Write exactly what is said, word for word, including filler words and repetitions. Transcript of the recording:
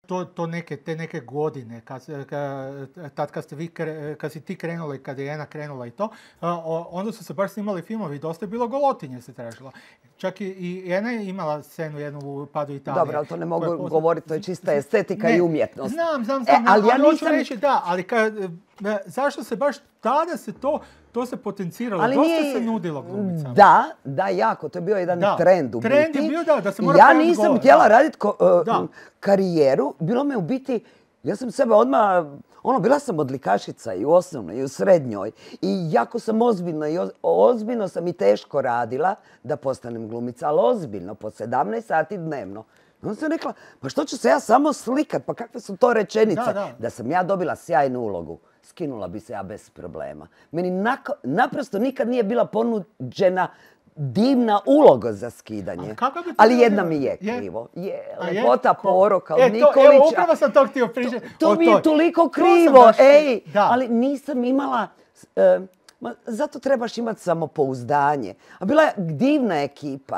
to, to neke, te neke godine, kad, kad, tad kad, ste vi, kad si ti krenula i kad je Ena krenula i to, onda su se baš snimali filmovi, dosta je bilo golotinje se tražilo. Čak i, i Ena je imala scenu jednu u Padu Italije. Dobro, ali to ne mogu posle... govoriti, to je čista estetika ne, i umjetnost. Znam, znam, znam, e, ali, ja ali nisam... hoću reći da, ali kad, zašto se baš tada se to, to se potenciralo, ali dosta nije... se nudilo glumicama. Da, da, jako, to je bio jedan da, trend u biti. Trend je bio da, da se mora ja nisam govor, htjela da. raditi uh, karijeru, bilo me u biti, ja sam sebe odmah, ono, bila sam odlikašica i u osnovnoj i u srednjoj i jako sam ozbiljno i ozbiljno sam i teško radila da postanem glumica, ali ozbiljno, po sedamnaest sati dnevno. Onda sam rekla, pa što ću se ja samo slikat, pa kakve su to rečenice? Da, da. Da sam ja dobila sjajnu ulogu, skinula bi se ja bez problema. Meni nako, naprosto nikad nije bila ponuđena divna uloga za skidanje. Ali jedna mi je krivo. Je, lepota poroka od Nikolića. Evo, upravo sam to htio pričati. To mi je toliko krivo, ej. Ali nisam imala... Zato trebaš imati samopouzdanje. A bila je divna ekipa.